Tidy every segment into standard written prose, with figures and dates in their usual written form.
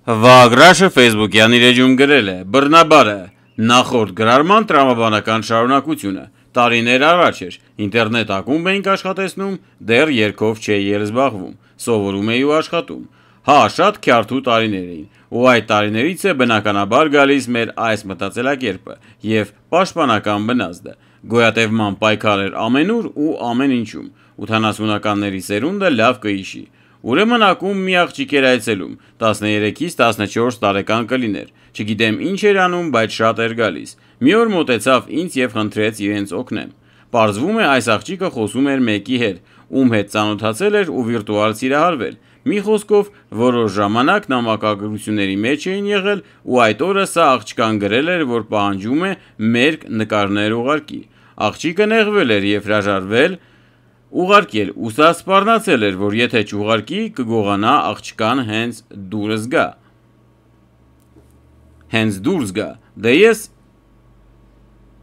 Վագրաշը Facebook-յան իր էջում գրել է. բռնաբարը նախորդ գրարման տրամաբանական շարունակությունը։ Տարիներ առաջ էր, ինտերնետ ակումբ էինք աշխատեցնում, դեռ երգով չէի էլ զբաղվում, սովորում էի ու աշխատում։ Հա, շատ քյարթու տարիներ էին, ու այդ տարիներից է բնականաբար գալիս մեր այս մտածելակերպը և պաշտպանական բնազդը։ Գոյատևման պայքար էր ամենուր ու ամեն ինչում, 80-ականների սերունդը լավ կհիշի։ Ուրեմն ակումբ մի աղջիկ էր այցելում, 13-ից 14 տարեկան կլիներ, չգիտեմ ինչ էր անում, բայց շատ էր գալիս։ Մի օր մոտեցավ ինձ և խնդրեց իրենց օգնեմ։ Պարզվում է այս աղջիկը խոսում էր մեկի հետ, ում հետ ծանոթացել էր ու վիրտուալ սիրահարվել։ Մի խոսքով, որոշ ժամանակ նամակագրությունների մեջ էին եղել ու այդ օրը սա աղջկան գրել էր, որ պահանջում է մերկ նկարներ ուղարկի։ Աղջիկը նեղվել էր և հրաժարվել ուղարկել ու սա սպառնացել էր, որ եթե չուղարկի, կգողանա աղջկան հենց դուրս գա։ Դե ես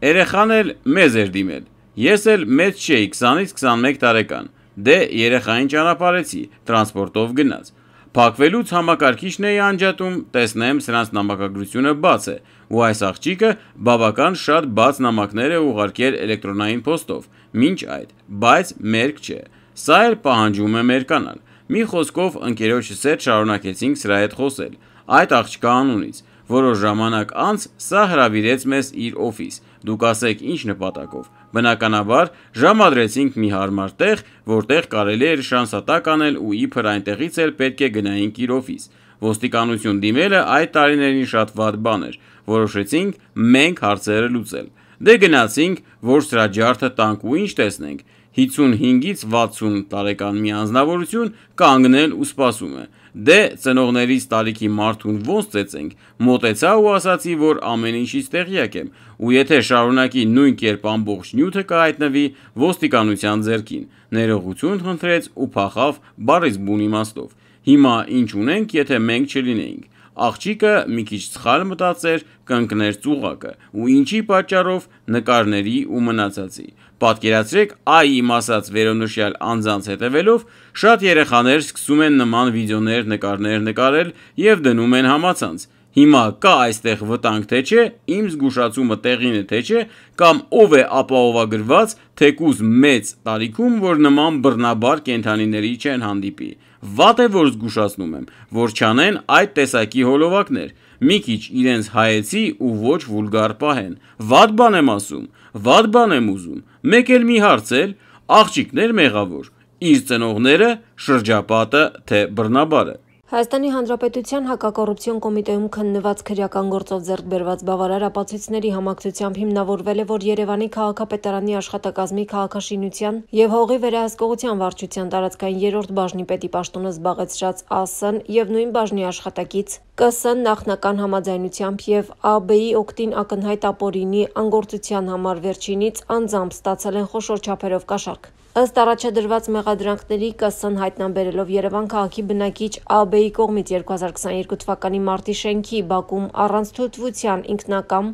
երեխան էլ մեզ էր դիմել։ Ես էլ մեծ չէի, 20-ից 21 տարեկան։ Դե երեխային ճանապարհեցի, տրանսպորտով գնաց։ Փակվելուց համակարգիչն էի անջատում, տեսնեմ սրանց նամակագրությունը բաց է, ու այս աղջիկը բավական շատ բաց նամակներ է ուղարկել էլեկտրոնային փոստով, մինչ այդ, բայց մերկ չէ։ Սա էլ պահանջում է մերկանալ։ Մի խոսքով ընկերոջս հետ շարունակեցինք սրա հետ խոսել, այդ աղջկա անունից։ Որոշ ժամանակ անց սա հրավիրեց մեզ իր օֆիս, դուք ասեք ինչ նպատակով։ Բնականաբար ժամադրեցինք մի հարմար տեղ, որտեղ կարելի էր շանսատակ անել ու իբր այնտեղից էլ պետք է գնայինք իր օֆիս։ Ոստիկանություն դիմելը այդ տարիներին շատ վատ բան էր, որոշեցինք մենք հարցերը լուծել։ Դե գնացինք, որ սրա ջարդը տանք ու ինչ տեսնենք, 55-ից 60 տարեկան մի անձնավորություն կանգնել ու սպասում է։ Դե ծնողներիս տարիքի մարդուն ոնց ծեծենք, մոտեցա ու ասացի, որ ամեն ինչից տեղյակ եմ, ու եթե շարունակի նույն կերպ ամբողջ նյութը կհայտնվի ոստիկանության ձեռքին։ Ներողություն խնդրեց ու փախավ բառից բուն իմաստով։ Հիմա ինչ ունենք, եթե մենք չլինեինք։ Աղջիկը մի քիչ սխալ մտածեր, կընկներ ծուղակը, ու ինչի պատճառով նկարների ու մնացածի։ Պատկերացրեք, այ իմ ասած վերոնշյալ անձանց հետևելով, շատ երեխաներ սկսում են նման վիդեոներ, նկարներ նկարել և դնում են համացանց։ Հիմա կա այստեղ վտանգ թե չէ, իմ զգուշացումը տեղին է թե չէ, կամ ով է ապահովագրված, թեկուզ մեծ տարիքում, որ նման բռնաբար կենդանիների չեն հանդիպի։ Վատ է, որ զգուշացնում եմ, որ չանեն այդ տեսակի հոլովակներ, մի քիչ իրենց հայեցի ու ոչ վուլգար պահեն։ Վատ բան եմ ասում, վատ բան եմ ուզում։ Մեկ էլ մի հարց էլ, աղջիկներ մեղավոր, իր ծնողները, շրջապատը, թե բռնաբարը։ Հայաստանի Հանրապետության հակակոռուպցիոն կոմիտեում քննված քրեական գործով ձեռք բերված բավարար ապացույցների համակցությամբ հիմնավորվել է, որ Երևանի քաղաքապետարանի աշխատակազմի քաղաքաշինության և հողի վերահսկողության վարչության տարածքային 3-րդ բաժնի պետի պաշտոնը զբաղեցրած ԱՍ-ն և նույն բաժնի աշխատակից ԿՍ-ն նախնական համաձայնությամբ և ԱԲ-ի օգտին ակնհայտ ապօրինի անգործության համար վերջինից անձամբ ստացել են խոշոր չափերով կաշառք։ Ըստ առաջադրված մեղադրանքների ԿՍ-ն հայտնաբերելով Երևան քաղաքի բնակիչ ԱԲ-ի կողմից 2022 թվականի մարտի շենքի բակում առանց թույլտվության ինքնակամ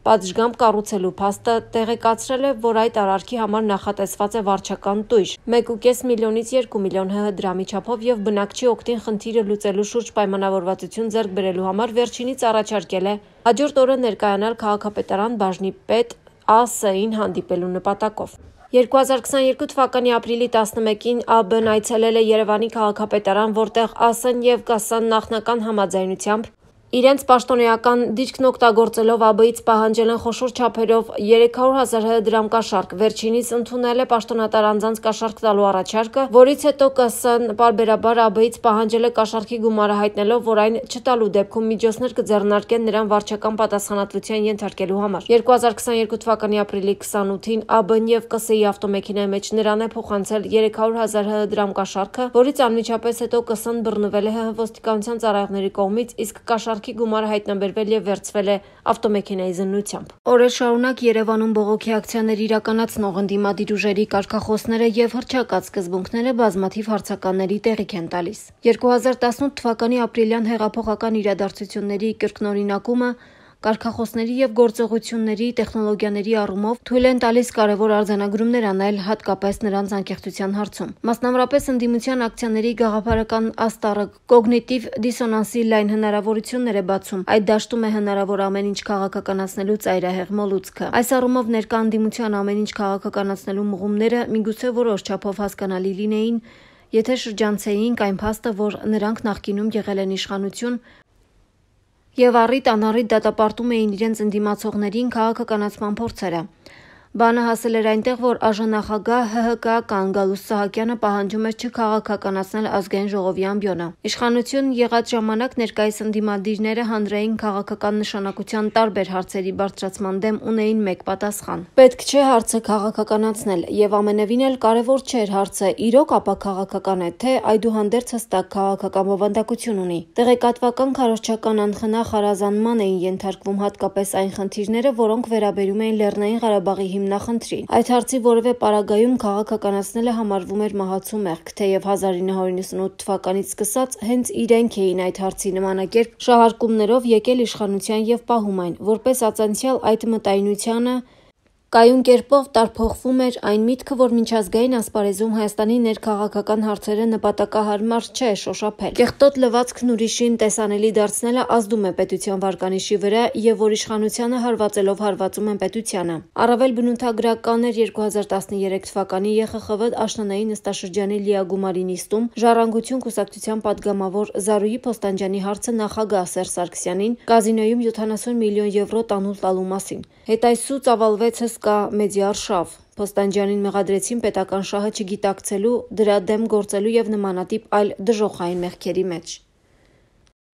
պատշգամբ կառուցելու փաստը տեղեկացրել է, որ այդ արարքի համար նախատեսված է վարչական տույժ 1,5 միլիոնից 2 միլիոն ՀՀ դրամի չափով և բնակչի օգտին խնդիրը լուծելու շուրջ պայմանավորվածություն ձեռք բերելու համար վերջինից առաջարկել է հաջորդ օրը ներկայանալ քաղաքապետարան բաժնի պետ ԱՍ-ին հանդիպելու նպատակով։ 2022 թվականի ապրիլի 11-ին ԱԲ-ն այցելել է Երևանի քաղաքապետարան, որտեղ ԱՍ-ն և ԿՍ-ն նախնական համաձայնությամբ իրենց պաշտոնեական դիրքն օգտագործելով ԱԲ-ից պահանջել են խոշոր չափերով 300,000 ՀՀ դրամ կաշառք, վերջինիս ընդունել է պաշտոնատար անձանց կաշառք տալու առաջարկը, որից հետո ԿՍ-ն պարբերաբար ԱԲ-ից պահանջել է կաշառքի գումարը հայտնելով, որ այն չտալու դեպքում միջոցներ կձեռնարկեն նրան վարչական պատասխանատվության ենթարկելու համար։ 2022 թվականի ապրիլի 28-ին ԱԲ-ն և ԿՍ-ի ավտոմեքենայի մեջ նրան է փոխանցել 300,000 ՀՀ դրամ կաշառքը, որից անմիջապես հետո ԿՍ-ն բռնվել է ՀՀ ոստիկանության ծառայողների կողմից, իսկ կաշառքի գումարը հայտնաբերվել և վերցվել է ավտոմեքենայի զննությամբ։ Օրեր շարունակ Երևանում բողոքի ակցիաներ իրականացնող ընդդիմադիր ուժերի կարգախոսները և հռչակած սկզբունքները բազմաթիվ հարցականների տեղիք են տալիս։ 2018 թվականի ապրիլյան հեղափոխական իրադարձությունների կրկնօրինակումը Կարգախոսների եւ գործողությունների տեխնոլոգիաների առումով թույլ են տալիս կարևոր արձանագրումներ անել, հատկապես նրանց անկեղծության հարցում։ Մասնավորապես ընդդիմության ակցիաների գաղափարական աստառը կոգնիտիվ դիսոնանսի լայն հնարավորություններ է բացում։ Այդ դաշտում է հնարավոր ամեն ինչ քաղաքականացնելու ծայրահեղ մոլուցքը։ Այս առումով ներկա ընդդիմության ամեն ինչ քաղաքականացնելու մղումները միգուցե որոշ չափով հասկանալի լինեին, եթե շրջանցեինք այն փաստը, որ նրանք նախկինում եղել են իշխանություն եւ առիթ-անառիթ դատապարտում էին իրենց ընդդիմացողներին քաղաքականացման փորձերը։ Բանը հասել էր այնտեղ, որ ԱԺ-նախագահ ՀՀԿ-ական Գալուստ Սահակյանը պահանջում էր չքաղաքականացնել ազգային ժողովի ամբիոնը։ Իշխանություն եղած ժամանակ ներկայիս ընդդիմադիրները հանրային քաղաքական նշանակության տարբեր հարցերի բարձրացման դեմ ունեին մեկ պատասխան։ Պետք չէ հարցը քաղաքականացնել, եւ ամենևին էլ կարևոր չէր հարցը իրոք ապա քաղաքական է, թե այդուհանդերձ հստակ քաղաքական բովանդակություն ունի։ Տեղեկատվական քարոզչական անխնա խարազանման էին ենթարկվում հատկապես այն խնդիրները, որոնք վերաբերում էին Լեռնային Ղարաբաղի հիմնախնդրին։ Այդ հարցի որևէ պարագայում քաղաքականացնելը համարվում էր մահացու մեղք, թեև 1998 թվականից սկսած հենց իրենք էին այդ հարցի նմանակերպ շահարկումներով եկել իշխանության եւ պահում այն, որպես ածանցյալ այդ մտայնությանը կայուն կերպով տարփոխվում էր այն միտքը, որ միջազգային ասպարեզում Հայաստանի ներքաղաքական հարցերը նպատակահարմար չէ շոշափել։ Կեղտոտ լվացքն ուրիշին տեսանելի դարձնելը ազդում է պետության վարկանիշի վրա եւ որ իշխանությանը հարվածելով հարվածում են պետությանը։ Առավել բնութագրական էր 2013 թվականի ԵԽԽՎ աշնանային նստաշրջանի լիագումարի նիստում Ժառանգություն կուսակցության падգամավոր Զարուհի Փոստանջյանի հարցը նախագահ Սերժ Սարգսյանին կազինոյում 70 միլիոն եվրո տանուլ տալու մասին։ Հետայսու ծավալվեց հսկա մեդիա-արշավ։ Փոստանջյանին մեղադրեցին պետական շահը չգիտակցելու, դրա դեմ գործելու եւ նմանատիպ այլ դժոխային մեղքերի մեջ։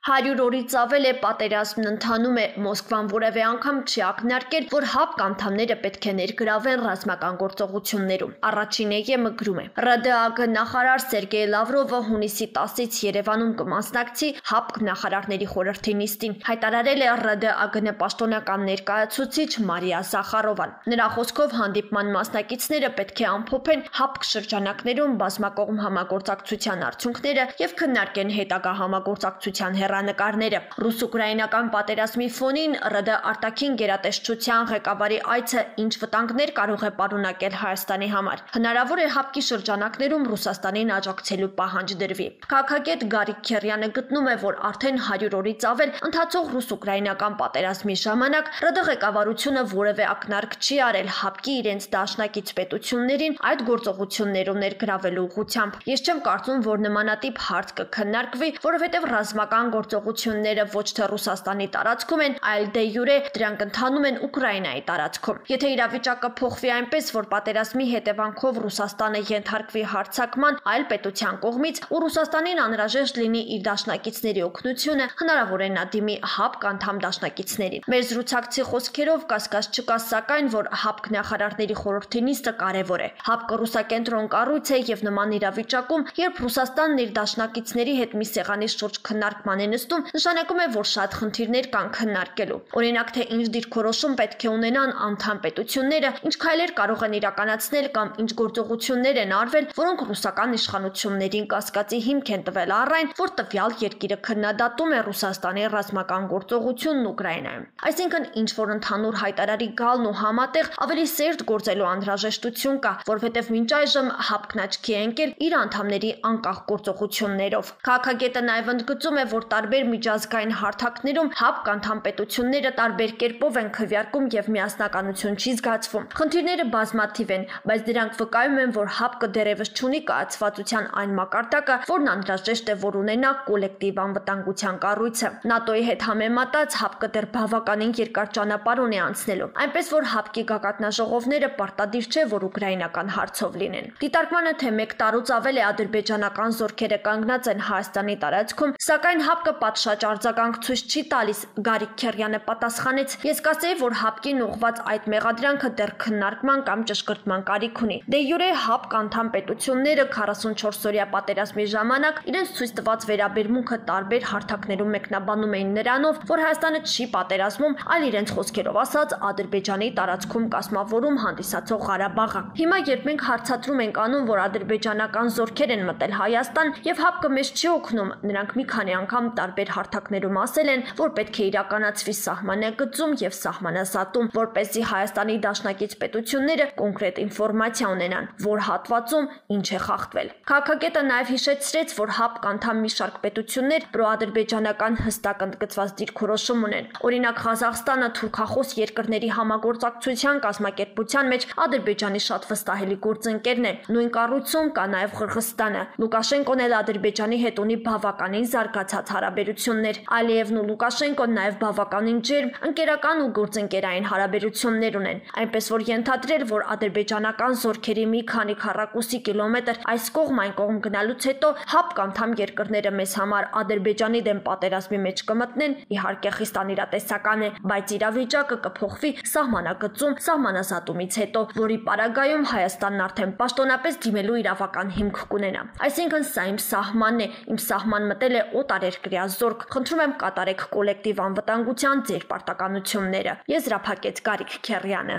100 օրից ավել է պատերազմն ընթանում է, Մոսկվան որևէ անգամ չի ակնարկել, որ ՀԱՊԿ անդամները պետք է ներգրավեն ռազմական գործողություններում։ Առաջին ԵՄ գրում է. ՌԴԱԳ նախարար Սերգեյ Լավրովը հունիսի 10-ից Երևանում կմասնակցի ՀԱՊԿ նախարարների խորհրդի նիստին, հայտարարել է ՌԴԱԳ պաշտոնական ներկայացուցիչ Մարիա Զախարովան։ Նրա խոսքով հանդիպման մասնակիցները պետք է ամփոփեն ՀԱՊԿ շրջանակներում բազմակողմ համագործակցության արդյունքները եւ քննարկեն հետագա համագործակցության նկարները։ Ռուս-ուկրաինական պատերազմի ֆոնին ՌԴ արտաքին գերատեսչության ղեկավարի այցը ինչ վտանգներ կարող է պարունակել Հայաստանի համար։ Հնարավոր է ՀԱՊԿ-ի շրջանակներում Ռուսաստանին աջակցելու պահանջ դրվի։ Քաղաքագետ Գարիկ Քերյանը գտնում է, որ արդեն 100 օրից ավել ընթացող ռուս-ուկրաինական պատերազմի ժամանակ ՌԴ ղեկավարությունը որևէ ակնարկ չի արել ՀԱՊԿ-ի իրենց դաշնակից պետություններին այդ գործողություններում ներգրավելու ուղղությամբ։ Ես չեմ կարծում, որ նմանատիպ հարց կքննարկվի, որովհետև ռազմական գործողությունները ոչ թե Ռուսաստանի տարածքում են, այլ դե յուրե դրանք ընթանում են Ուկրաինայի տարածքում։ Եթե իրավիճակը փոխվի այնպես, որ պատերազմի հետևանքով Ռուսաստանը ենթարկվի հարձակման այլ պետության կողմից ու Ռուսաստանին անհրաժեշտ լինի իր դաշնակիցների օգնությունը, հնարավոր է նա դիմի ՀԱՊԿ անդամ դաշնակիցներին։ Մեր զրուցակցի խոսքերով կասկած չկա, սակայն, որ ՀԱՊԿ նախարարների խորհրդի նիստը կարևոր է։ ՀԱՊԿ ռուսակենտրոն կառույց է եւ նման իրավիճակում, երբ Ռուսաստանն իր դաշնակիցների հետ մի սեղանի շուրջ քննարկման է նստում, նշանակում է, որ շատ խնդիրներ կան քննարկելու։ Օրինակ, թե ինչ դիրքորոշում պետք է ունենան անդամ պետությունները, ինչ քայլեր կարող են իրականացնել կամ ինչ գործողություններ են արվել, որոնք ռուսական իշխանություններին կասկածի հիմք են տվել առ այն, որ տվյալ երկիրը քննադատում է Ռուսաստանի ռազմական գործողությունն Ուկրաինայում։ Այսինքն, ինչ որ ընդհանուր հայտարարի գալն ու համատեղ ավելի սերտ գործելու անհրաժեշտություն կա, որովհետև մինչ այժմ ՀԱՊԿ-ն աչքի է ընկել իր անդամների անկախ գործողություններով։ Քաղաքագետը նաև ընդգծում է, որ տարբեր միջազգային հարթակներում ՀԱՊԿ անդամ պետությունները տարբեր կերպով են քվեարկում եւ միասնականություն չի զգացվում։ Խնդիրները բազմաթիվ են, բայց դրանք վկայում են, որ ՀԱՊԿ-ը դեռևս չունի կայացվածության այն մակարդակը, որն անհրաժեշտ է, որ ունենա կոլեկտիվ անվտանգության կառույցը։ ՆԱՏՕ-ի հետ համեմատած ՀԱՊԿ-ը դեռ բավականին երկար ճանապարհ ունի անցնելու, այնպես որ ՀԱՊԿ-ի գագաթնաժողովները պարտադիր չէ, որ ուկրաինական հարցով լինեն։ Դիտարկմանը, թե 1 տարուց ավել է ադրբեջանական զորքերը կանգնած են Հայաստանի տարածքում, սակայն ՀԱՊԿ-ը պատշաճ արձագանք ցույց չի տալիս, Գարիկ Քերյանը պատասխանեց. Ես կասեի, որ ՀԱՊԿ-ին ուղղված այդ մեղադրանքը դեռ քննարկման կամ ճշգրտման կարիք ունի։ Դե յուրե ՀԱՊԿ անդամ պետությունները 44-օրյա պատերազմի ժամանակ իրենց ցույց տված վերաբերմունքը տարբեր հարթակներում մեկնաբանում էին նրանով, որ Հայաստանը չի պատերազմում, այլ իրենց խոսքերով ասած Ադրբեջանի տարածքում կազմավորում հանդիսացող Ղարաբաղը։ Հիմա երբ մենք հարցադրում ենք անում, որ ադրբեջանական զորքեր են մտել Հայաստան եւ ՀԱՊԿ-ը մեզ չի օգնում, նրանք մի քանի անգամ տարբեր հարթակներում ասել են, որ պետք է իրականացվի սահմանագծում եւ սահմանազատում, որպեսզի Հայաստանի դաշնակից պետությունները կոնկրետ ինֆորմացիա ունենան, որ հատվածում ինչ է խախտվել։ Քաղաքագետը նաև հիշեցրեց, որ ՀԱՊԿ անդամ մի շարք պետություններ պրոադրբեջանական հստակ ընդգծված դիրքորոշում ունեն։ Օրինակ Ղազախստանը թուրքախոս երկրների համագործակցության կազմակերպության մեջ Ադրբեջանի շատ վստահելի գործընկերն է։ Նույն կառույցում կա նաև Ղրղստանը։ Լուկաշենկոն էլ Ադրբեջանի հետ ունի բավականին զարգացած հարաբերություններ։ Ալիևն ու Լուկաշենկոն նաև բավականին ջերմ ընկերական ու գործընկերային հարաբերություններ ունեն, այնպես որ ենթադրել, որ ադրբեջանական զորքերի մի քանի քառակուսի կիլոմետր այս կողմ այն կողմ գնալուց հետո ՀԱՊԿ անդամ երկրները մեզ համար Ադրբեջանի դեմ պատերազմի մեջ կմտնեն, իհարկե խիստ անիրատեսական է, բայց իրավիճակը կփոխվի սահմանագծում սահմանազատումից հետո, որի պարագայում Հայաստանն արդեն պաշտոնապես դիմելու իրավական հիմք կունենա։ Այսինքն սա իմ սահմանն է, իմ սահման մտել է օտարերկրյա զորք։ Խնդրում եմ կատարեք կոլեկտիվ անվտանգության ձեր պարտականությունները։ Եզրափակեց Գարիկ Քեռյանը։